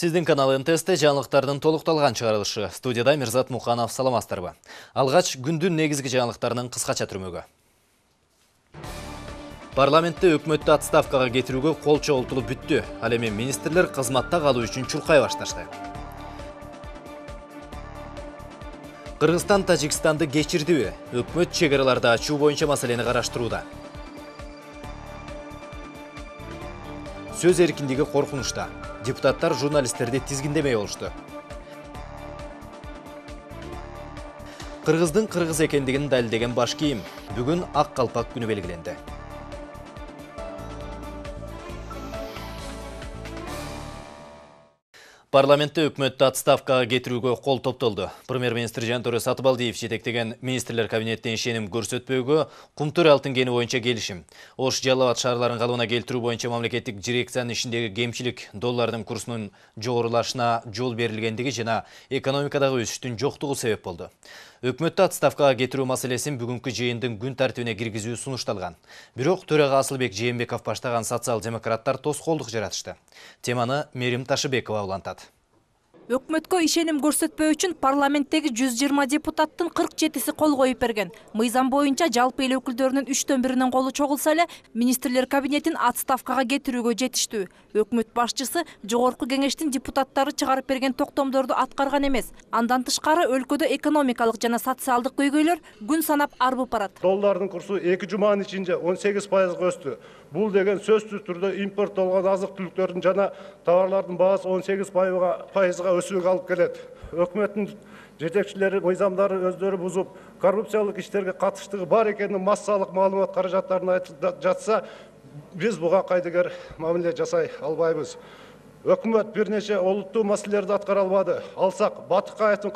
Сиздин канал НТС-те жаңылыктардын толукталган чыгарылышы. Студияда Мирзат Муканов, саламатсыздарбы. Алгач күндүн негизги жаңылыктарынын кыскача түрмөгү. Парламентте өкмөттү отставкага кетирүүгө кол чогултулуп бүттү. Ал эми министрлер кызматта калуу үчүн чуркай башташты. Кыргызстан Тажикстанды кечирдиби? Өкмөт чек араларды ачуу боюнча маселени караштырууда. Сөз эркиндиги коркунучта. Депутаттар журналисттерди тизгиндемей болушту. Кыргыздын кыргыз экендигин далилдеген баш кийим. Бүгүн ак калпак күнү белгиленди. Парламентте өкмөттү отставкага кетирүүгө кол топтолду. Премьер-министр Жантөре Сатыбалдиев жетектеген министрлер кабинетине ишеним көрсөтпөөгө Кумтөр алтын кени боюнча келишим. Ош Жалал Абад шаарларын калыбына келтирүү боюнча мамлекеттик дирекциянын ишиндеги кемчилик, доллардын курсунун жогорулашына жол берилгендиги жана экономикадагы өсүштүн жоктугу себеп болду. Өкмөттү отставкага кетирүү маселесин бүгүнкү жыйындын күн тартибине киргизүү сунушталган. Бирок төрага Асылбек Жээнбеков баштаган социал-демократтар тоскоолдук жаратышты. Теманы Мерим Ташыбекова улантат. Өкмөткө ишеним көрсөтпөө үчүн парламенттеги 120 депутаттын 47си кол коюп берген. Мыйзам боюнча жалпы эл өкүлдөрүнүн 3/4-нин колу чогулса эле министрлер кабинетин отставкага кетирүүгө жетиштүү. Өкмөт башчысы жогорку кеңештин депутаттары чыгарып берген токтомдорду аткарган эмес. Андан тышкары өлкөдө экономикалык жана социалдык көйгөйлөр күн санап арбып барат. Доллардын курсу 2 жуманын ичинде 18%га өстү. Бул деген сөзсүз түрдө импорттолгон азык-түлүктөрдүн жана товарлардын баасы 18%га өсүүгө алып келет. Өкмөттүн жетекчилери мыйзамдарды өздөрү бузуп, коррупциялык иштерге катыштыгы бар экенин массалык маалымат каражаттарын айтып жатса, биз буга кайдыгер мамиле жасай албайбыз. Өкмөт бир нече олуттуу маселелерди аткара албады. Алсак, Батыкаевдин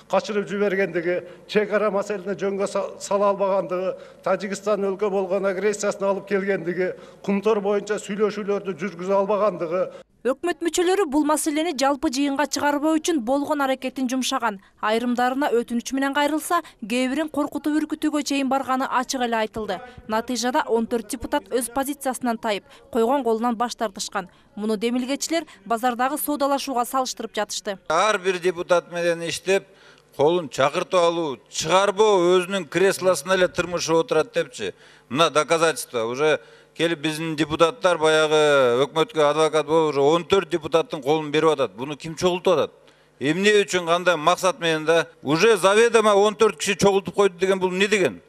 качырып жибергендиги, чек ара маселени жөнгө сала албагандыгы, Тажикстан өлкө болгон агрессиясын алып келгендиги, Кумтөр боюнча сүйлөшүүлөрдү жүргүзө албагандыгы. Өкмөт мүчөлөрү бул маселени жалпы жыйынга чыгарбоо үчүн болгон аракетин жумшаган. Айрымдарына өтүнүч менен кайрылса, кээ бирин коркутуп үркүтүүгө чейин барганы ачык эле айтылды. Натыйжада 14 депутат өз позициясынан тайып, койгон колунан баш тартышкан. Муну демилгечилер базардагы соодалашууга салыштырып жатышты. Ар бир депутат менен иштеп, колун чакыртып алуу, чыгарбоо өзүнүн креслосуна эле тырмышып отурат депчи. Мына доказательство. Уже келип биздин депутаттар баягы өкмөткө адвокат болуп уже 14 депутаттын колун берип атат. Буну ким чогултуп атат? Эмне үчүн, кандай максат менен да? Уже заведомо 14 киши чогултуп койду деген бул эмне деген?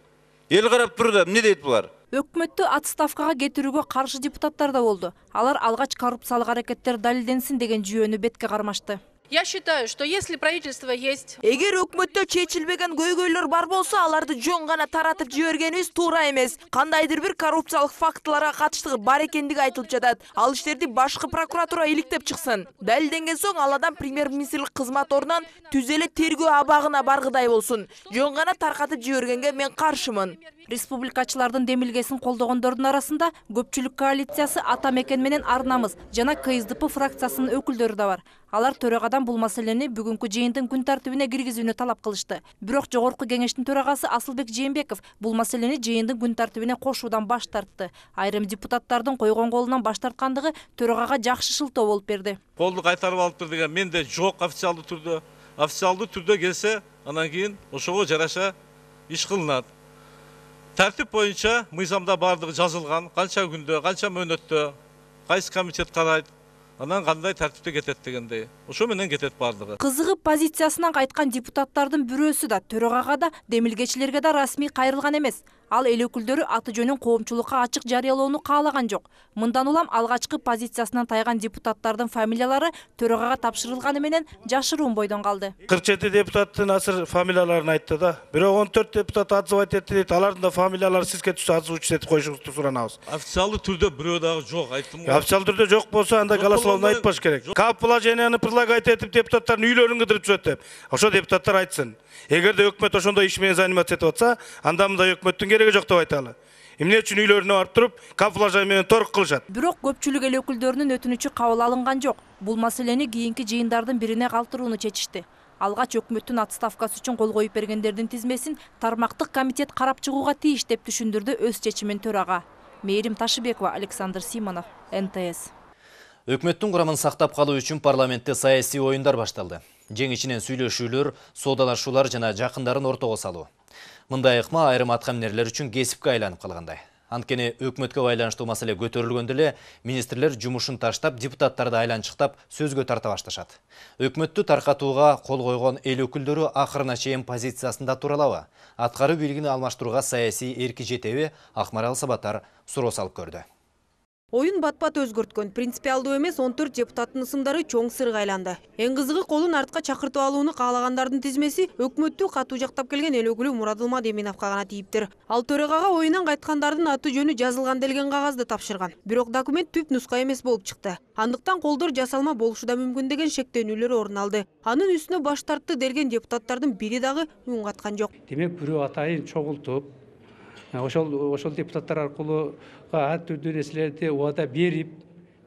Эл карап турду, эмне дейт булар? Өкмөттү отставкага кетирүүгө каршы депутаттар да болду. Алар алгач коррупциялык аракеттер далилденсин деген жүйөнү бетке кармашты. Я считаю, что если правительство есть... Эгер өкмөттө чечилбеген көйгөйлөр бар болсо, аларды жөн гана таратып жибергенибиз туура эмес. Кандайдыр бир коррупциялык фактыларга катыштыгы бар экендиги айтылып жатат. Ал иштерди башкы прокуратура иликтеп чыксын. Далилденген соң ал адам премьер-министрлик кызмат ордунан түз эле тергөө абагына баргыдай болсун. Жөн гана таркатып жибергенге мен каршымын. Республикачылардын демилгесин колдогондордун арасында көпчүлүк коалициясы Ата Мекен менен Арнамыз жана КСДП фракциясынын өкүлдөрү да бар. Алар төрагадан бул маселени бүгүнкү жыйындын күн тартибине киргизүүнү талап кылышты. Бирок жогорку кеңештин төрагасы Асылбек Жээнбеков бул маселени жыйындын күн тартибине кошуудан баш тартты. Айрым депутаттардын койгон колунан баш тарткандыгы төрагага жакшы шылтоо болуп берди. Колду кайтарып алыптыр деген менде жок официалдуу түрдө. Официалдуу түрдө келсе, анан кийин ошого жараша иш кылынат. Тартип боюнча мыйзамда бардыгы жазылган, канча күндө, канча мөөнөттө, кайсы комитет карайт, анан кандай тартипте кетет дегендей. Ошо менен кетет бардыгы. Кызыгып позициясынан кайткан депутаттардын бирөөсү да төрагага да, демилгечилерге да расмий кайрылган эмес. Ал эл өкүлдөрү аты жөнүн коомчулукка ачык жарыялоону каалаган жок. Мындан улам алгачкы позициясынан тайган депутаттардын фамилиялары төрагага тапшырылганы менен жашыруун бойдон калды. 47 депутаттын азыр фамилияларын айтты да. Бирок 14 депутат отзывать этти дейт. Алардын да фамилиялары сизге түшсө озвучить этип коюшуңузду суранабыз. Официалдуу түрдө бирөө дагы жок, айттым го. Официалдуу түрдө жок болсо анда голословно айтпаш керек. Как положенияны предлагать этип депутаттардын үйлөрүн кыдырып жүрөт деп. Ошо депутаттар айтсын. Эгерде өкмөт ошондой иш менен заниматься этип атса, анда мындай өкмөттүн кереги жок деп айталы. Эмне үчүн үйлөрүнө барып туруп, камуфляж менен торг кылышат? Бирок көпчүлүк эл өкүлдөрүнүн өтүнүчү кабыл алынган жок. Бул маселени кийинки жыйындардын бирине калтырууну чечишти. Алгач өкмөттүн отставкасы үчүн кол коюп бергендердин тизмесин тармактык комитет карап чыгууга тийиш деп түшүндүрдү өз чечимин төрага. Мерим Ташыбекова, Александр Симонов, НТС. Өкмөттүн курамын сактап калуу үчүн парламентте саясий оюндар башталды. Жеңичинен сүйлөшүүлөр, соодалашуулар жана жакындарын ортого салуу. Мындай ыкма айрым аткаминерлер үчүн кесипке айланып калгандай. Анткени өкмөткө байланыштуу маселе көтөрүлгөндө эле министрлер жумушун таштап, депутаттарды айланчыктап сөзгө тарта башташат. Өкмөттү таркатууга кол койгон эл өкүлдөрү акырына чейин позициясында туралабы? Аткаруу бийлигин алмаштырууга саясий эрки жетеби? Акмарал Сабатар суроо салып көрдү. Оюн бат-бат өзгөрткөн принципиалдуу эмес 14 депутаттын ысымдары чоң сырга айланды. Эң кызыгы колун артка чакыртып алууну каалагандардын тизмеси өкмөттү катуу жактап келген эл өкүлү Мурадылма Деминовго гана тийиптир. Ал төрагага оюнан кайткандардын аты жөнү жазылган делген кагазды тапшырган. Бирок документ түп нуска эмес болуп чыкты. Андыктан колдор жасалма болушу да мүмкүн деген шектенүүлөр орун алды. Анын үстүнө баш тартты делген депутаттардын бири дагы үн каткан жок. Демек бирөө атайын чогултуп, ошол депутаттар аркылуу ар түрдүү нерселерди убада берип,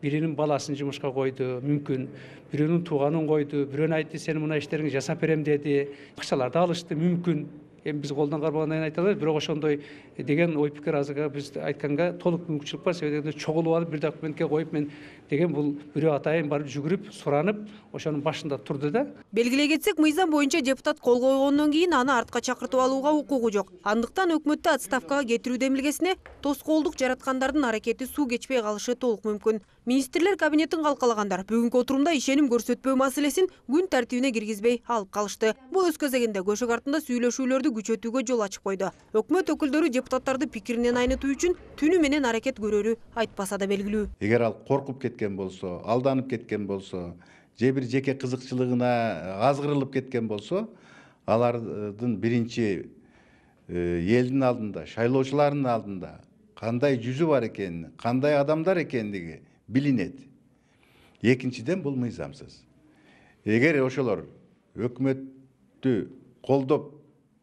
биринин баласын жумушка койду, мүмкүн бирөөнүн тууганын койду, бирөөнү айтты сен мына иштериңди жасап берем деди, акчаларды алышты, мүмкүн. Эми биз колдон карбагандан айта албайбыз, бирок ошондой деген ой пикир азыркы биз айтканга толук мүмкүнчүлүк бар. Себеби дегенде чогулуп алып бир документке коюп мен деген бул бирөө атайын барып жүгүрүп, суранып, ошонун башында турду да. Белгилей кетсек, мыйзам боюнча депутат кол койгондон кийин аны артка чакыртып алууга укугу жок. Андыктан өкмөттү отставкага кетирүү демилгесине тоскоолдук жараткандардын аракети суу кечпей калышы толук мүмкүн. Министрлер кабинетин калкалагандар бүгүнкү отурумда ишеним көрсөтпөө маселесин күн тартибине киргизбей алып калышты. Бул өз кезегинде көшөк артында сүйлөшүүлөрдү күчөтүүгө жол ачып койду. Өкмөт өкүлдөрү депутаттарды пикиринен айнытуу үчүн түнү менен аракет көрөрү айтпаса да белгилүү. Эгер ал коркуп кеткен болсо, алданып кеткен болсо, же бир жеке кызыкчылыгына азгырылып кеткен болсо, алардын биринчи элдин алдында, шайлоочулардын алдында кандай жүзү бар экени, кандай адамдар экендиги билинет. Экинчиден бул мыйзамсыз. Эгер ошолор өкмөттү колдоп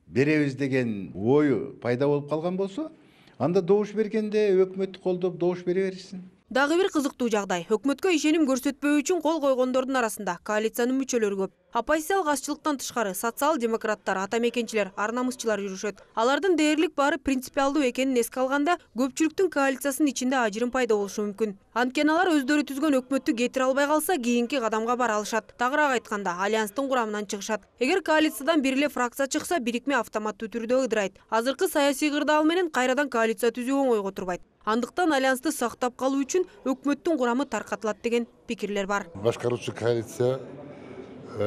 беребиз деген ою пайда болуп калган болсо, анда добуш бергенде өкмөттү колдоп добуш бере беришсин. Дагы бир кызыктуу жагдай. Өкмөткө ишеним көрсөтпөө үчүн кол койгондордун арасында коалициянын мүчөлөрү көп. Оппозициялык азчылыктан тышкары социал-демократтар, атамекенчилер, ар намысчылар жүрүшөт. Алардын дээрлик баары принципиалдуу экенин эске алганда, көпчүлүктүн коалициясынын ичинде ажырым пайда болушу мүмкүн. Анткени алар өздөрү түзгөн өкмөттү кетире албай калса, кийинки кадамга бара алышат. Тагыраак айтканда, альянстын курамынан чыгышат. Эгер коалициядан бир эле фракция чыкса, бирикме автоматтуу түрдө ыдырайт. Азыркы саясий кырдаал менен кайрадан коалиция түзүү оңойго турбайт. Андыктан альянсты сактап калуу үчүн өкмөттүн курамы таркатылат деген пикирлер бар. Башкаруучу коалиция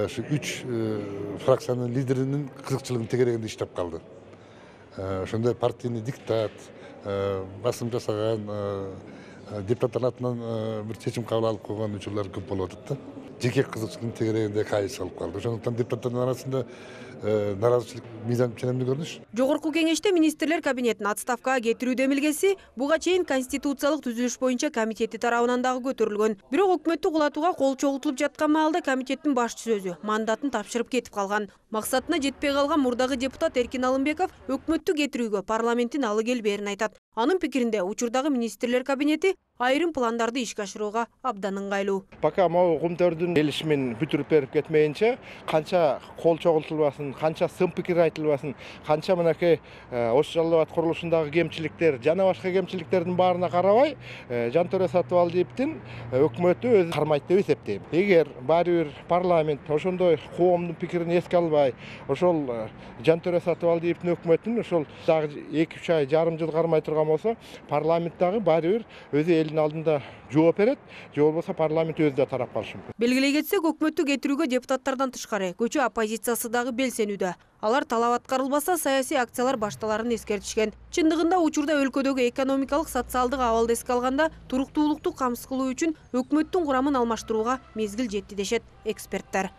ушу 3 фракциянын лидеринин кызыкчылыгын тегерегинде иштеп калды. Ошондой партийный диктат, басым жасаган депутаттар атынан бир чечим кабыл алып койгон учурлар көп болуп атат да. Жеке кызыкчылыгын тегерегинде коалиция алып калды. Ошондуктан депутаттардын арасында наразычылык мыйзам ченемдүү көрүнүш. Жогорку кеңеште министрлер кабинетин отставкага кетирүү демилгеси буга чейин конституциялык түзүлүш боюнча комитети тарабынан дагы көтөрүлгөн. Бирок өкмөттү кулатууга кол чогултулуп жаткан маалда комитеттин башчысы өзү мандатын тапшырып кетип калган. Максатына жетпей калган мурдагы депутат Эркин Алымбеков өкмөттү кетирүүгө парламенттин алы келбээрин айтат. Анын пикиринде учурдагы министрлер кабинети айрым пландарды ишке ашырууга абдан ыңгайлуу. Пока могу кумтөрдүн келишимин бүтүрүп берип кетмейинче, канча кол чогултулбасын, канча сын пикир айтылбасын, канча мынакей Ош Жалал абад курулушундагы кемчиликтер жана башка кемчиликтердин баарына карабай, Жантөре Сатыбалдиевдин өкмөтү өзү кармайт деп эсептейм. Эгер баары бир парламент ошондой коомдун пикирин эске албай, ошол Жантөре Сатыбалдиевдин өкмөтүн ошол дагы 2-3 ай, жарым жыл кармай турган болсо, парламент дагы баары бир өзү элдин алдында жооп берет, же болбосо парламент өзү да тарап калышы мүмкүн. Белгилей кетсек, өкмөттү кетирүүгө депутаттардан тышкары көчө оппозициясы дагы белсенүүдө. Алар талап аткарылбаса, саясий акциялар башталарын эскертишкен. Чындыгында учурда өлкөдөгү экономикалык, социалдык абалды эске алганда туруктуулукту камсыз кылуу үчүн өкмөттүн курамын алмаштырууга мезгил жетти дешет эксперттер.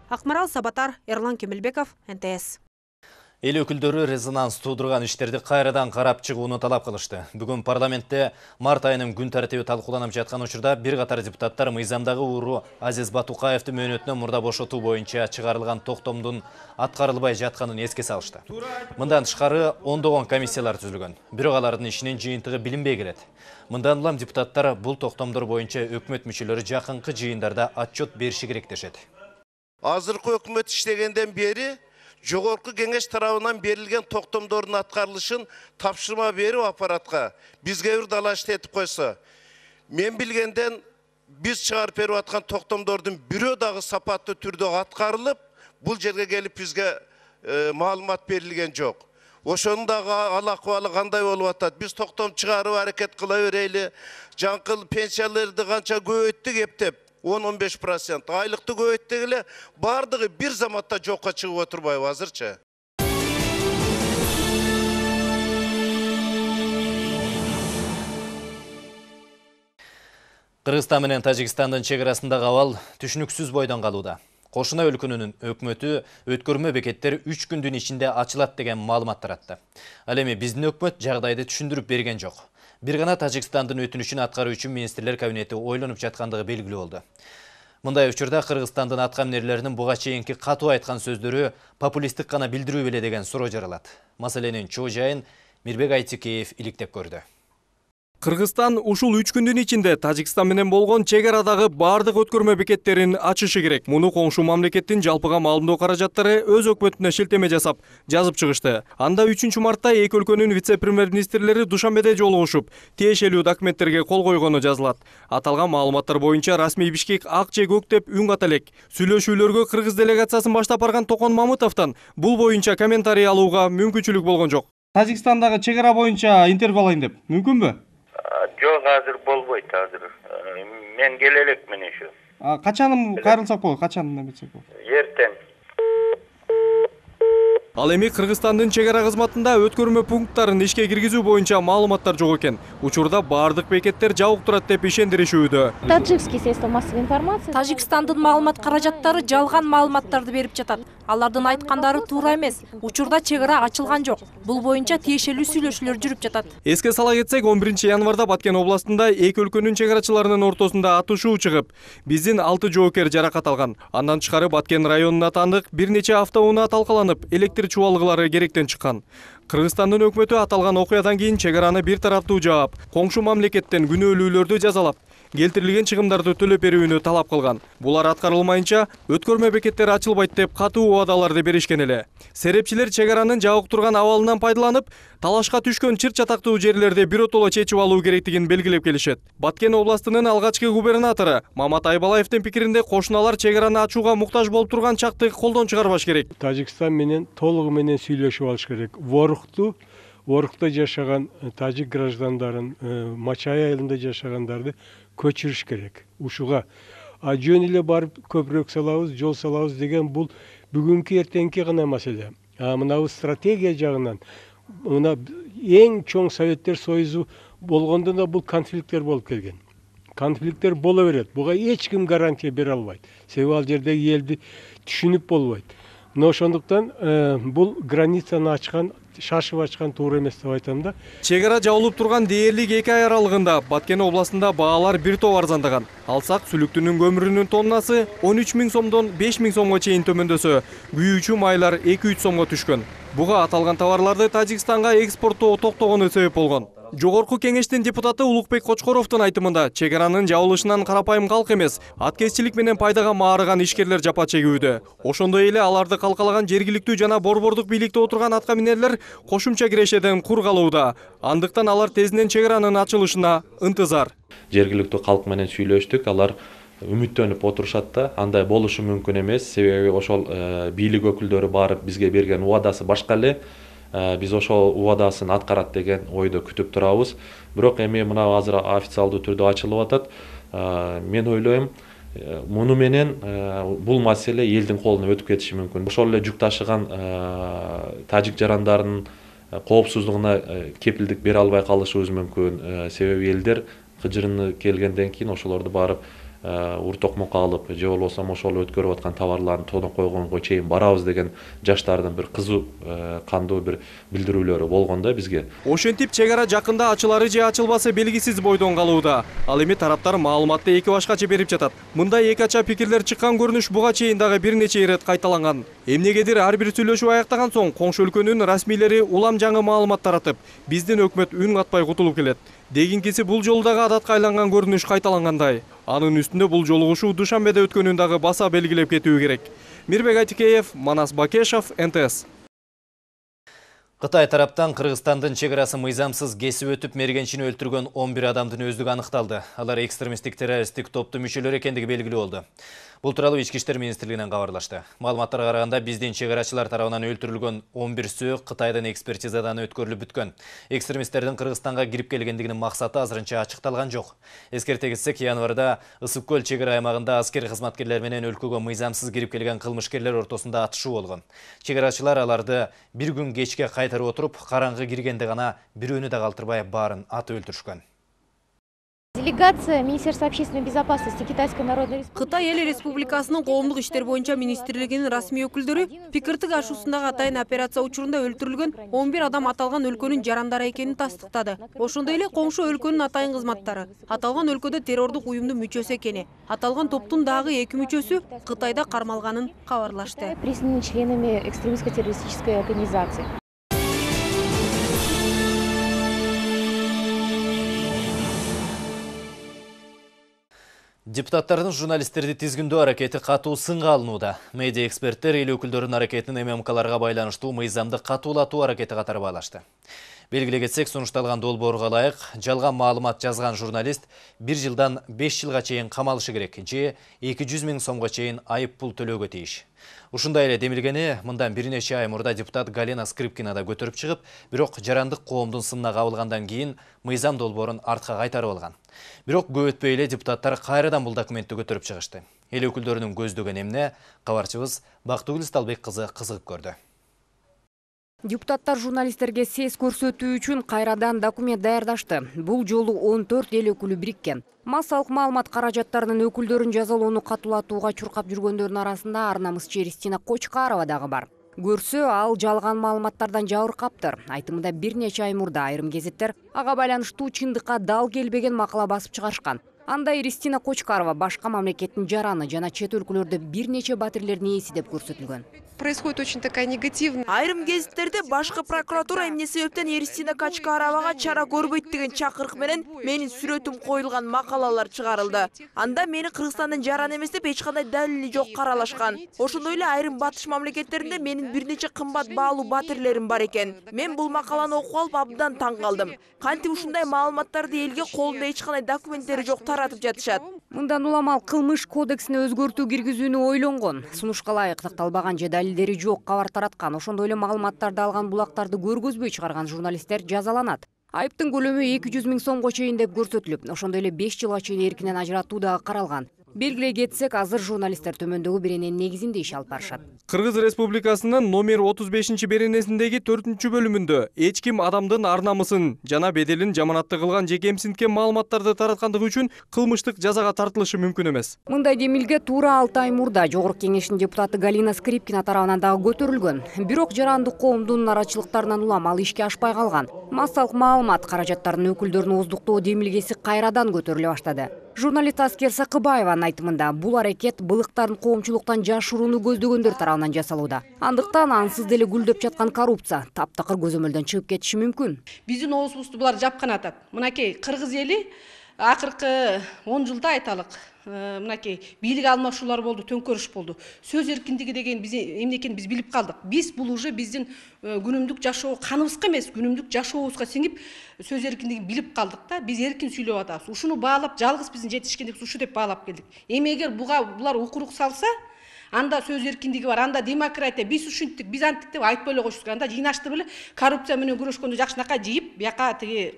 Акмарал Сабатар, Эрлан Кемелбеков, НТС. Эл өкүлдөрү резонанс туудурган иштерди кайрадан карап чыгууну талап кылышты. Бүгүн парламентте март айынын күн тартиби талкууланып жаткан учурда бир катар депутаттар мыйзамдагы ууру Азиз Батукаевдин мөөнөтүнөн мурда бошотуу боюнча чыгарылган токтомдун аткарылбай жатканын эске салышты. Мындан тышкары ондогон комиссиялар түзүлгөн. Бирок алардын ишинин жыйынтыгы билинбей келет. Мындан улам депутаттар бул токтомдор боюнча өкмөт мүчөлөрү жакынкы жыйындарда отчет бериши керек дешет. Азыркы өкмөт иштегенден бери жогорку кеңеш тарабынан берилген токтомдордун аткарылышын тапшырма берип аппаратка бизге бир далашты этип койсо, мен билгенден биз чыгарып берип аткан токтомдордун бирөө дагы сапаттуу түрдө аткарылып, бул жерге келип бизге маалымат берилген жок. Ошонун дагы ал акыбалы кандай болуп атат? Биз токтом чыгарып аракет кыла берели. Жаңкыл пенсияларды канча көбөйттүк эптеп, 10-15%. Айлыкты көбөйттүк эле, бардыгы бир заматта жокко чыгып отурбайбы азырчы? Кыргызстан менен Тажикстандын чек арасындагы абал түшүнүксүз бойдон калууда. Кошуна өлкөнүн өкмөтү өткөрмө бекеттер 3 күндүн ичинде ачылат деген маалымат таратты. Ал эми биздин өкмөт жагдайды түшүндүрүп берген жок. Бир гана Тажикстандын өтүнүчүн аткаруу үчүн министрлер кабинети ойлонуп жаткандыгы белгилүү болду. Мындай учурда Кыргызстандын аткаминерлеринин буга чейинки катуу айткан сөздөрү популисттик гана билдирүү беле деген суроо жаралат. Маселенин чоо жайын Мирбек Айтикеев иликтеп көрдү. Кыргызстан ушул 3 күндүн ичинде Тажикстан менен болгон чек арадагы бардык өткөрмө бекеттерин ачышы керек. Муну коңшу мамлекеттин жалпыга маалымдоо каражаттары өз өкмөтүнө шилтеме жасап, жазып чыгышты. Анда 3 мартта эки өлкөнүн вице-премьер-министрлери Душанбеде жолугушуп, тиешелүү документтерге кол койгону жазылат. Аталган маалыматтар боюнча расмий Бишкек ак же көк деп үн ката элек. Сүйлөшүүлөргө кыргыз делегациясын баштап барган Токон Мамытовдон бул боюнча комментарий алууга мүмкүнчүлүк болгон жок. Тажикстандагы чек ара боюнча интервью алайын деп, мүмкүнбү? Жок, азыр болбойт азыр. Мен келе элекмин ошо. Качан кайрылсак болот? Качан эметсек болот? Эртең. Ал эми Кыргызстандын чек ара кызматында өткөрмө пункттарын ишке киргизүү боюнча маалыматтар жок экен. Учурда бардык бекеттер жабык турат деп ишендиришүүдө. Таджикский средства массовой информации. Тажикстандын маалымат каражаттары жалган маалыматтарды берип жатат. Алардын айткандары туура эмес. Учурда чек ара ачылган жок. Бул боюнча тиешелүү сүйлөшүүлөр жүрүп жатат. Эске сала кетсек, 11 январда Баткен областында эки өлкөнүн чек арачыларынын ортосунда атышуу чыгып, биздин 6 жоокер жаракат алган. Андан тышкары Баткен районуна таандык бир нече автоунаа талкаланып, электр чубалгылары керектен чыккан. Кыргызстандын өкмөтү аталган окуядан кийин чек араны бир тараптуу жаап, коңшу мамлекеттен күнөөлүүлөрдү жазалап, келтирилген чыгымдарды төлөп берүүнү талап кылган. Булар аткарылмайынча өткөрмө бекеттери ачылбайт деп катуу убадаларды беришкен эле. Серепчилер чек аранын жабык турган абалынан пайдаланып, талашка түшкөн чыр чатактуу жерлерди биротоло чечип алуу керектигин белгилеп келишет. Баткен областынын алгачкы губернатору Мамат Айбалаевдин пикиринде кошуналар чек араны ачууга муктаж болуп турган чакты колдон чыгарбаш керек. Тажикстан менен толугу менен сүйлөшүп алыш керек. Орукта жашаган тажик граждандарын, Мачай айылында жашагандарды көчүрүш керек. Ушуга жөн эле барып көпүрөк салабыз, жол салабыз деген бул бүгүнкү эртеңки гана маселе. Мына стратегия жагынан мына эң чоң Советтер Союзу болгондо да бул конфликттер болуп келген. Конфликттер боло берет. Буга эч ким гарантия бере албайт. Себеби ал жердеги элди түшүнүп болбойт. Но ошондуктан бул границаны ачкан, шашып ачкан туура эмес деп айтам да. Чек ара жабылып турган дээрлик 2 ай аралыгында Баткен областында баалар бир топ арзандаган. Алсак сүлүктүнүн көмүрүнүн тоннасы 13 000 сомдон 5 000 сомго чейин төмөндөсө, күйүүчү майлар 2-3 сомго түшкөн. Буга аталган товарларды Тажикстанга экспорттоо токтогону себеп болгон. Жогорку кеңештин депутаты Улукбек Кочкоровдун айтымында чек аранын жабылышынан карапайым калк эмес, аткезчилик менен пайдага маарыган ишкерлер жапа чегүүдө. Ошондой эле аларды калкалаган жергиликтүү жана борбордук бийликте отурган аткаминерлер кошумча кирешеден кур калууда. Андыктан алар тезинен чек аранын ачылышына ынтызар. Жергиликтүү калк менен сүйлөштүк, алар үмүттөнүп отурушат да, андай болушу мүмкүн эмес. Себеби ошол бийлик өкүлдөрү барып бизге берген убадасы башка эле. Биз ошол убадасын аткарат деген ойдо күтүп турабыз. Бирок эми мына азыр официалдуу түрдө ачылып атат. Мен ойлойм, муну менен бул маселе элдин колуна өтүп кетиши мүмкүн. Ошол эле жүк ташыган тажик жарандарынын коопсуздугуна кепилдик бере албай калышыбыз мүмкүн. Себеби элдер кыжырыны келгенден кийин ошолорду барып уртокмокко алып, же болбосо ошол өткөрүп аткан товарларын тонуп койгонго чейин барабыз деген жаштардын бир кызуу кандуу бир билдирүүлөрү болгон да бизге. Ошентип чек ара жакында ачылары же ачылбасы белгисиз бойдон калууда. Ал эми тараптар маалыматты эки башкача берип жатат. Мындай эки ача пикирлер чыккан көрүнүш буга чейин дагы бир нече ирет кайталанган. Эмнегедир ар бир сүйлөшүү аяктаган соң коңшу өлкөнүн расмийлери улам жаңы маалымат таратып, биздин өкмөт үн катпай кутулуп келет. Дегинкиси бул жолу дагы адатка айланган көрүнүш кайталангандай. Анын үстүндө бул жолугушуу Душанбеде өткөнүн дагы баса белгилеп кетүү керек. Мирбек Айтикеев, Манас Бакешов, НТС. Кытай тараптан Кыргызстандын чегарасын мыйзамсыз кесип өтүп мергенчини өлтүргөн 11 адамдын өздүгү аныкталды. Алар экстремисттик террористтик топтун мүчөлөрү экендиги белгилүү болду. Бул тууралуу Ички иштер министрлигинен кабарлашты. Маалыматтарга караганда биздин чегарачылар тарабынан өлтүрүлгөн 11 сөөк Кытайдын экспертизадан өткөрүлүп бүткөн. Экстремисттердин Кыргызстанга кирип келгендигинин максаты азырынча ачыкталган жок. Эскерте кетсек, январда Ысык көл чегара аймагында аскер кызматкерлер менен өлкөгө мыйзамсыз кирип келген кылмышкерлер ортосунда атышуу болгон. Чегарачылар аларды бир күн кечке кайтарып отуруп, караңгы киргенде гана бирөөнү да калтырбай баарын атып өлтүрүшкөн. Делегация Министерства общественной безопасности Китайской Народной Республики. Кытай эл республикасынын коомдук иштер боюнча министрлигинин расмий өкүлдөрү пикиртик ашуусундагы атайын операция учурунда өлтүрүлгөн 11 адам аталган өлкөнүн жарандары экенин тастыктады. Ошондой эле коңшу өлкөнүн атайын кызматтары аталган өлкөдө террордук уюмдун мүчөсү экени, аталган топтун дагы 2 мүчөсү Кытайда кармалганын кабарлашты. Признаны членами экстремистско-террористической организации. Депутаттардын журналисттерди тизгиндөө аракети катуу сынга алынууда. Медиа эксперттер эл өкүлдөрүнүн аракетин ММКларга байланыштуу мыйзамды катуулатуу аракети катары баалашты. Белгилей кетсек, сунушталган долбоорго ылайык жалган маалымат жазган журналист 1 жылдан 5 жылга чейин камалышы керек же 200 000 сомго чейин айып пул төлөөгө тийиш. Ушундай эле демилгени мындан бир нече ай мурда депутат Галина Скрипкина да көтөрүп чыгып, бирок жарандык коомдун сынына кабылгандан кийин мыйзам долбоорун артка кайтарып алган. Бирок көп өтпөй эле депутаттар кайрадан бул документти көтөрүп чыгышты. Эл өкүлдөрүнүн көздөгөн эмне кабарчыбыз Бактыгүл Сталбек кызы кызыгып көрдү. Депутаттар журналисттерге сес көрсөтүү үчүн кайрадан документ даярдашты. Бул жолу 14 эл өкүлү бириккен. Массалык маалымат каражаттарынын өкүлдөрүн жазалоону катуулатууга чуркап жүргөндөрдүн арасында ар намысчы Ристина Кочкарова дагы бар. Көрсө, ал жалган маалыматтардан жабыркаптыр. Айтымында бир нече ай мурда айрым гезиттер ага байланыштуу чындыкка дал келбеген макала басып чыгарышкан. Анда Ристина Кочкарова башка мамлекеттин жараны жана чет өлкөлөрдө бир нече батирлердин ээси деп көрсөтүлгөн. Происходит очень такая негативная. Айрым гезиттерде башкы прокуратура эмне себептен Ристина Кочкаровага чара көрбөйт деген чакырык менен менин сүрөтүм коюлган макалалар чыгарылды. Анда мени Кыргызстандын жараны эмес деп эч кандай далили жок каралашкан. Ошондой эле айрым батыш мамлекеттеринде менин бир нече кымбат баалуу батирлерим бар экен. Мен бул макаланы окуп алып абдан таң калдым. Кантип ушундай маалыматтарды элге колунда эч кандай документтери жок таратып жатышат. Мындан улам ал кылмыш кодексине өзгөртүү киргизүүнү ойлонгон. Сунушка ылайык такталбаган же далилдери жок кабар тараткан, ошондой эле маалыматтарды алган булактарды көргөзбөй чыгарган журналисттер жазаланат. Айыптын көлөмү 200 000 сомго чейин деп көрсөтүлүп, ошондой эле 5 жылга чейин эркинен ажыратуу дагы каралган. Белгилей кетсек, азыр журналисттер төмөндөгү берененин негизинде иш алып барышат. Кыргыз Республикасынын номер 35 беренесиндеги 4 бөлүмүндө эч ким адамдын ар намысын жана беделин жаманатты кылган же кемсинткен маалыматтарды тараткандыгы үчүн кылмыштык жазага тартылышы мүмкүн эмес. Мындай демилге туура 6 ай мурда Жогорку Кеңештин депутаты Галина Скрипкина тарабынан дагы көтөрүлгөн. Бирок жарандык коомдун нараачылыктарынан улам ал ишке ашпай калган. Массалык маалымат каражаттарынын өкүлдөрүн ооздуктоо демилгеси кайрадан көтөрүлө баштады. Журналист Аскер Сакыбаеванын айтымында бул аракет былыктарын коомчулуктан жашырууну көздөгөндөр тарабынан жасалууда. Андыктан ансыз деле гүлдөп жаткан коррупция таптакыр көзөмөлдөн чыгып кетиши мүмкүн. Биздин оозубузду булар жапкан атат. Мынакей кыргыз эли акыркы 10 жылда айталык мынакей бийлик алмашуулар болду, төңкөрүш болду. Сөз эркиндиги деген биз эмне экенин биз билип калдык. Биз бул уже биздин күнүмдүк жашоо каныбызга эмес, күнүмдүк жашообузга сиңип сөз эркиндигин билип калдык да. Биз эркин сүйлөп атабыз. Ушуну баалап жалгыз биздин жетишкендигибиз ушу деп баалап келдик. Эмегер булар укурук салса, анда сөз эркиндиги бар, анда демократия, биз ушинттик, биз анттык деп айтпай эле коюш керек. Анда жыйнашты беле коррупция менен күрөшкөндө жакшынакай жыйып, бияка тиги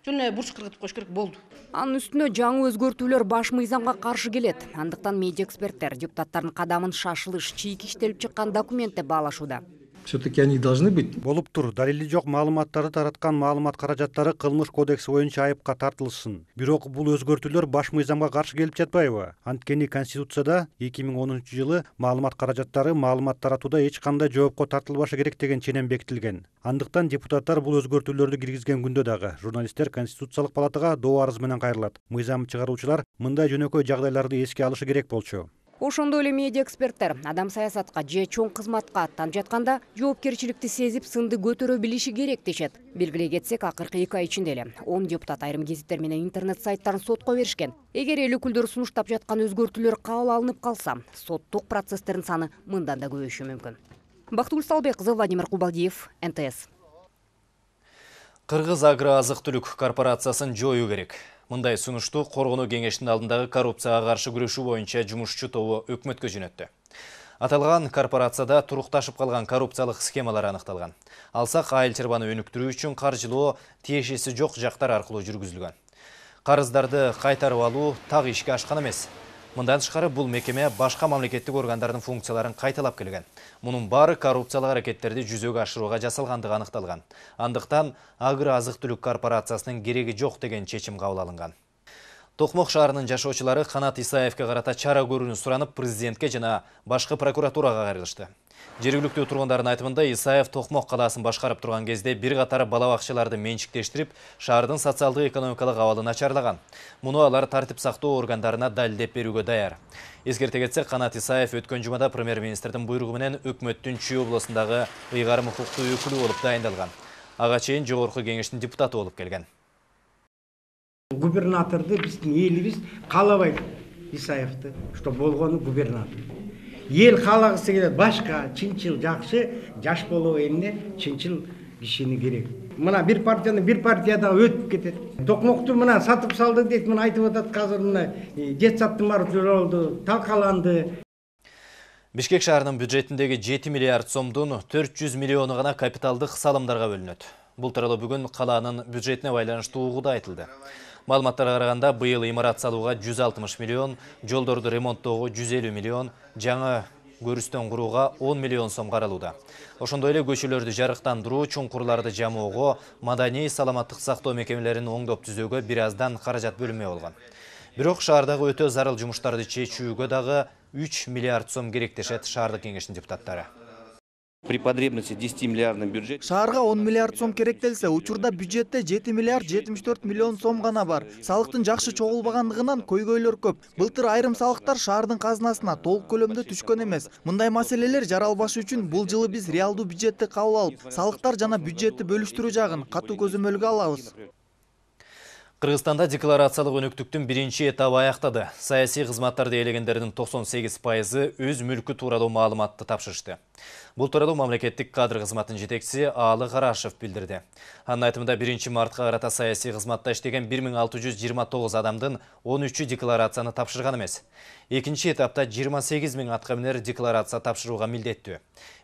жөн бурч кыргытып коюш керек болду. Анын үстүнө жаңы өзгөртүүлөр баш мыйзамга каршы келет. Андыктан медиа эксперттер депутаттардын кадамын шашылыш, чийик иштелип чыккан документ деп баалашууда. Все-таки они должны быть. Болуп тур, далили жок маалыматтарды тараткан маалымат каражаттары кылмыш кодекси боюнча айыпка тартылышсын. Бирок бул өзгөртүүлөр баш мыйзамга каршы келип жатпайбы? Анткени Конституцияда 2010-жылы маалымат каражаттары маалымат таратууда эч кандай жоопко тартылбашы керек деген ченем бекитилген. Андыктан депутаттар бул өзгөртүүлөрдү киргизген күндө дагы журналисттер Конституциялык палатага доо арыз менен кайрылат. Мыйзам чыгаруучулар мындай жөнөкөй жагдайларды эске алышы керек болчу. Ошондой эле медиа эксперттер адам саясатка же чоң кызматка аттанып жатканда жоопкерчиликти сезип сынды көтөрө билиши керек дешет. Белгилей кетсек, акыркы 2 ай ичинде эле 10 депутат айрым гезиттер менен интернет сайттарын сотко беришкен. Эгер эл өкүлдөрү сунуштап жаткан өзгөртүүлөр кабыл алынып калса, соттук процесстердин саны мындан да көбөйүшү мүмкүн. Бактыгүл Сталбек кызы, Владимир Кубалдиев, НТС. Кыргыз агро азык-түлүк корпорациясын жоюу керек. Мындай сунушту Коргонуу кеңешинин алдындагы коррупцияга каршы күрөшүү боюнча жумушчу тобу өкмөткө жөнөттү. Аталган корпорацияда турукташып калган коррупциялык схемалар аныкталган. Алсак айыл чарбаны өнүктүрүү үчүн каржылоо тиешеси жок жактар аркылуу жүргүзүлгөн. Карыздарды кайтарып алуу так ишке ашкан эмес. Мындан тышкары бул мекеме башка мамлекеттик органдардын функцияларын кайталап келген. Мунун баары коррупциялык аракеттерди жүзөгө ашырууга жасалгандыгы аныкталган. Андыктан агро азык-түлүк корпорациясынын кереги жок деген чечим кабыл алынган. Токмок шаарынын жашоочулары Канат Исаевке карата чара көрүүнү суранып президентке жана башкы прокуратурага кайрылышты. Жергиликтүү тургундардын айтымында Исаев Токмок калаасын башкарып турган кезде бир катар бала бакчаларды менчиктештирип, шаардын социалдык экономикалык абалын начарлаган. Муну алар тартип сактоо органдарына далилдеп берүүгө даяр. Эскерте кетсек, Канат Исаев өткөн жумада премьер-министрдин буйругу менен өкмөттүн Чүй областындагы ыйгарым укуктуу өкүлү болуп дайындалган. Ага чейин жогорку кеңештин депутаты болуп келген. Губернаторду биздин элибиз каалабайт, Исаевди, что болгону губернатор. Ел каалагысы келет, башка чынчыл жакшы жаш болобу эмне чынчыл кишини керек. Мына бир партияны бир партияда өтүп кетет. Токмокту мына сатып салды дейт, мына айтып атат азыр мына жетсаттын баары жолду, талкаланды. Бишкек шаарынын бюджетиндеги 7 миллиард сомдун 400 миллиону гана капиталдык салымдарга бөлүнөт. Бул тууралуу бүгүн калаанын бюджетине байланыштуу угууда айтылды. Маалыматтарга караганда быйыл имарат салууга 160 миллион, жолдорду ремонттоого 150 миллион, жаңы көрүстөн курууга 10 миллион сом каралууда. Ошондой эле көчөлөрдү жарыктандыруу, чуңкурларды жамоого, маданий саламаттык сактоо мекемелерин оңдоп түзөөгө бир аздан каражат бөлүнмөй болгон. Бирок шаардагы өтө зарыл жумуштарды чечүүгө дагы 3 миллиард сом керек дешет шаардык кеңештин депутаттары. При потребности 10 миллиардный бюджет. Шаарга 10 миллиард сом керектелсе, учурда бюджетте 7 миллиард 74 миллион сом гана бар. Салыктын жакшы чогулбагандыгынан көйгөйлөр көп. Былтыр айрым салыктар шаардын казынасына толук көлөмдө түшкөн эмес. Мындай маселелер жаралбашы үчүн бул жылы биз реалдуу бюджетти кабыл алып, салыктар жана бюджетти бөлүштүрүү жагын катуу көзөмөлгө алабыз. Кыргызстанда декларациялык өнүктүктүн биринчи этабы аяктады. Саясий кызматтарды ээлегендердин 98% өз мүлкү тууралуу маалыматты тапшырышты. Бул тууралуу мамлекеттик кадр кызматынын жетекчиси Аалы Карашев билдирди. Анын айтымында 1-мартка карата саясий кызматта иштеген 1629 адамдын 13-ü декларацияны тапшырган эмес. Экинчи этапта 28 000 аткаминер декларация тапшырууга милдеттүү.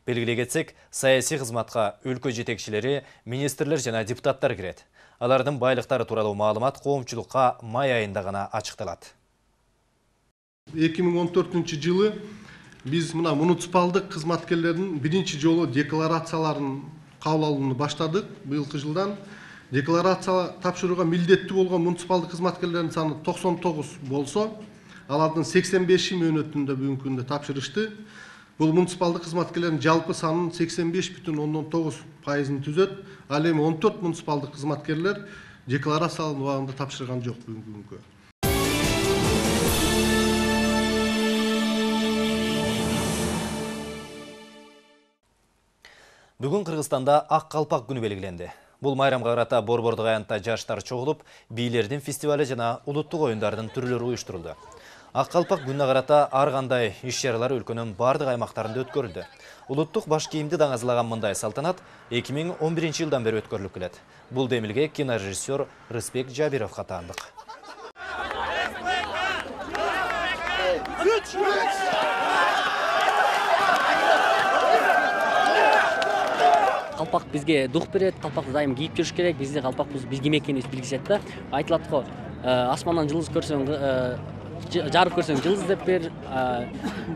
Белгилей кетсек, саясий кызматка өлкө жетекчилери, министрлер жана депутаттар кирет. Алардын байлыктары тууралуу маалымат коомчулукка май айында гана ачыкталат. 2014-жылы биз мына муниципалдык кызматкерлердин биринчи жолу декларацияларын кабыл алууну баштадык. Быйылкы жылдан декларация тапшырууга милдеттүү болгон муниципалдык кызматкерлердин саны 99 болсо, алардын 85-и мөөнөтүндө бүгүнкү күндө тапшырышты. Бул муниципалдык кызматкерлердин жалпы санынын 85,9%-ын түзөт. Ал эми 14 муниципалдык кызматкерлер декларацияларын убагында тапшырган жок бүгүнкү күнгө. Бүгүн Кыргызстанда ак калпак күнү белгиленди. Бул майрамга карата Борбордук аянтта жаштар чогулуп, бийлердин фестивали жана улуттук оюндардын түрлөрү уюштурулду. Ак калпак күнүнө карата ар кандай иш-чаралар өлкөнүн бардык аймактарында өткөрүлдү. Улуттук баш кийимди даңазалаган мындай салтанат 2011-жылдан бери өткөрүлүп келет. Бул демилге кинорежиссер Рыспек Жабировго таандык. Калпак бизге дух берет, калпакты дайым кийип жүрүш керек. Бизде калпакбыз биз ким экенибизди билгизет да. Айтылат го, асмандан жылдыз көрсөң, жарык көрсөң жылдыз деп бер,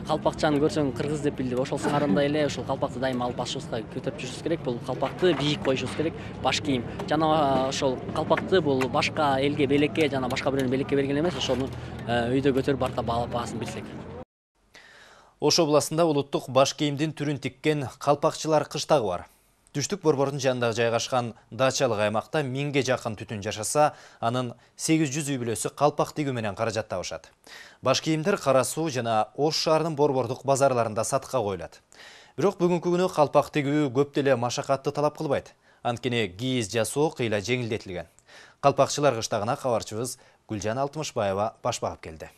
калпакчаны көрсөң кыргыз деп бил деп. Ошол сыңарындай эле ошол калпакты дайым алып башыбызга көтөрүп жүрүшүбүз керек. Бул калпакты бийик коюшубуз керек, баш кийим. Жана ошол калпакты бул башка элге белекке жана башка бирөөнү белекке берген эмес, ошону үйдө көтөрүп барта баалап баасын билсек. Ош областында улуттук баш кийимдин түрүн тиккен калпакчылар кыштагы бар. Түштүк Борбордун жанында жайгашкан дачалык аймакта 1000ге жакын түтүн жашаса, анын 800 үй бүлөсү калпак тигүү менен каражат табышат. Баш кийимдер Кара Суу жана Ош шаарынын борбордук базарларында сатыкка коюлат. Бирок бүгүнкү күнү калпак тигүү көп деле машакатты талап кылбайт. Анткени кийиз жасоо кыйла жеңилдетилген. Калпакчылар кыштагына кабарчыбыз Гүлжан Алтымышбаева баш багып келди.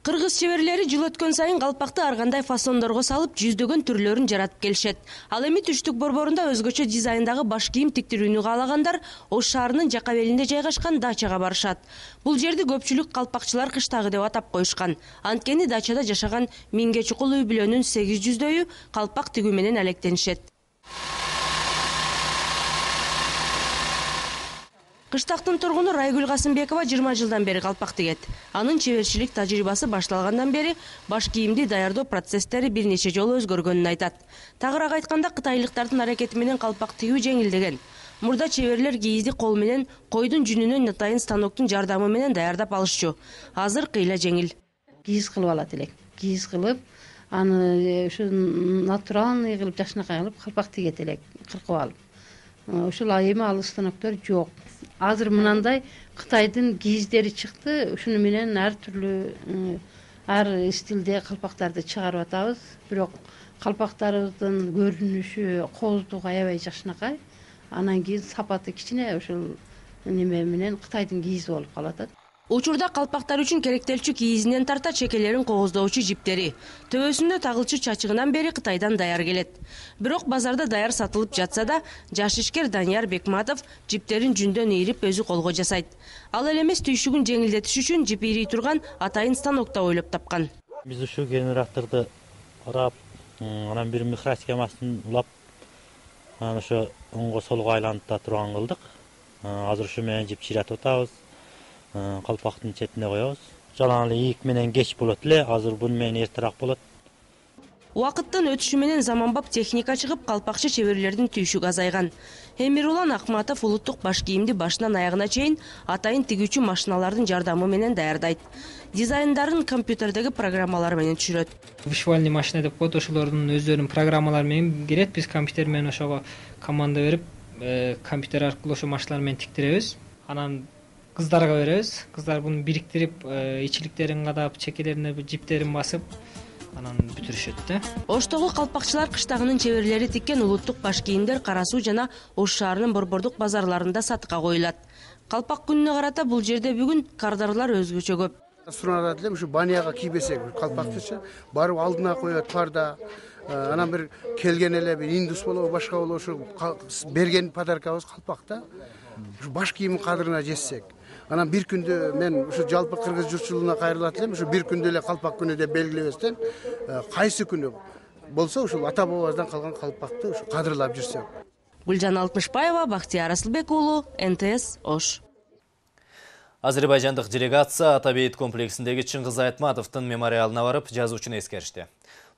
Кыргыз чеберлери жыл өткөн сайын калпакты ар кандай фасондорго салып, жүздөгөн түрлөрүн жаратып келишет. Ал эми Түштүк борборунда өзгөчө дизайндагы баш кийим тиктирүүнү каалагандар Ош шаарынын Жакабелинде жайгашкан дачага барышат. Бул жерди көпчүлүк калпакчылар кыштагы деп атап коюшкан. Анткени дачада жашаган миңге чукул үй бүлөнүн 800дөйү калпак тигүү менен алектенишет. Кыштактын тургуну Райгүл Касымбекова 20 жылдан бери калпак тигет. Анын чеберчилик тажрыйбасы башталгандан бери баш кийимди даярдоо процесстери бир нече жолу өзгөргөнүн айтат. Тагыраак айтканда, кытайлыктардын аракети менен калпак тигүү жеңилдеген. Мурда чеберлер кийизди кол менен койдун жүнүнөн атайын станоктун жардамы менен даярдап алышчу. Азыр кыйла жеңил. Кийиз кылып алат элек. Кийиз кылып, аны ушу натуральный кылып жакшынакай кылып калпак тигет элек, кыркып алып. Ушул эми ал станоктор жок. Азыр мынандай Кытайдын кийиздери чыкты. Ушуну менен ар түрлүү ар стилде калпактарды чыгарып атабыз. Бирок калпактарыбыздын көрүнүшү, кооздугу аябай жакшынакай. Анан кийин сапаты кичине ушул неме менен Кытайдын кийизи болуп калып атат. Учурда калпактар үчүн керектелчү кийизинен тарта чекелерин кооздоочу жиптери, төбөсүндө тагылчу чачыгынан бери Кытайдан даяр келет. Бирок базарда даяр сатылып жатса да, жаш ишкер Данияр Бекматов жиптерин жүндөн ийрип өзү колго жасайт. Ал эле эмес, түйшүгүн жеңилдетиш үчүн жип ийрий турган атайын станокто ойлоп тапкан. Биз ушул генераторду урап, анан бир микросхемасын улап, анан ошо оңго солго айлантыра турган кылдык. Азыр ушу менен жип чыйратып атабыз. Калпактын четине коебуз. Жалаң эле ийик менен кеч болот эле, азыр буну менен эртерээк болот. Убакыттын өтүшү менен заманбап техника чыгып, калпакчы чеберлердин түйшүгү азайган. Эмирулан Акматов улуттук баш кийимди башынан аягына чейин атайын тигүүчү машиналардын жардамы менен даярдайт. Дизайндарын компьютердеги программалар менен түшүрөт. Вишуальный машина деп коет, ошолордун өздөрүнүн программалары менен кирет. Биз компьютер менен ошого команда берип, компьютер аркылуу ошо машиналар менен тиктиребиз. Анан кыздарга беребиз. Кыздар буну бириктирип, ичиликтерин кадап, чекелерине жиптерин басып, анан бүтүрүшөт да. Оштогу калпакчылар кыштагынын чеберлери тиккен улуттук баш кийимдер Кара Суу жана Ош шаарынын борбордук базарларында сатыкка коюлат. Калпак күнүнө карата бул жерде бүгүн кардарлар өзгөчө көп. Сурунат элем ушу баняга кийбесек, калпактычы барып алдына коет парда. Анан бир келген эле бир индус болобу, башка болобу, ушу берген подаркабыз калпак да. Ушу баш кийимдин кадырына жетсек. Анан бир күндө мен ушу жалпы кыргыз журтчулугуна кайрылат элем, ушу бир күндө эле калпак күнү деп белгилебестен, кайсы күнү болсо ушул ата бабабыздан калган калпакты ушу кадырлап жүрсөк. Гүлжан Алтмышбаева, Бактияр Асылбек уулу, НТС Ош. Азербайжандык делегация Атабейит комплексиндеги Чыңгыз Айтматовдун мемориалына барып, жазуучуну эскеришти.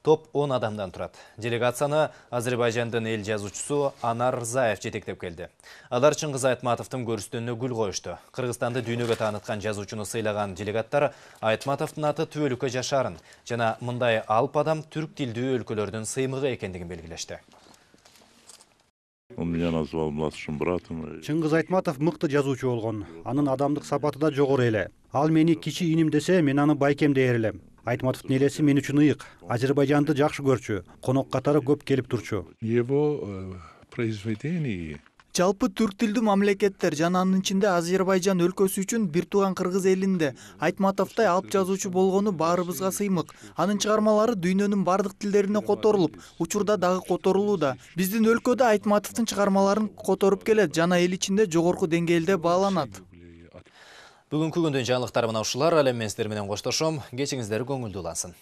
Топ 10 адамдан турат. Делегацияны Азербайжандын эл жазуучусу Анар Рзаев жетектеп келди. Алар Чыңгыз Айтматовдун көрүстөнүнө гүл коюшту. Кыргызстанды дүйнөгө тааныткан жазуучуну сыйлаган делегаттар Айтматовдун аты түбөлүккө жашаарын жана мындай алып адам түрк тилдүү өлкөлөрдүн сыймыгы экендигин белгилешти. Он меня назвал младшим братом. Чыңгыз Айтматов мыкты жазуучу болгон. Анын адамдык сапаты да жогору эле. Ал мени кичи иним десе, мен аны байкем дээр элем. Айтматовдун элеси мен үчүн ыйык. Азербайжанды жакшы көрчү. Конок катары көп келип турчу. Его произведения. Жалпы түрк тилдүү мамлекеттер жана анын ичинде Азербайжан өлкөсү үчүн бир тууган кыргыз элинде Айтматовдой алып жазуучу болгону баарыбызга сыймык. Анын чыгармалары дүйнөнүн бардык тилдерине которулуп, учурда дагы которулууда. Биздин өлкөдө Айтматовдун чыгармаларын которуп келет жана эл ичинде жогорку деңгээлде бааланат. Бүгүнкү күндүн жаңылыктары мына ушулар. Ал эми мен сиздер менен коштошом. Кечиңиздер көңүлдүү улансын.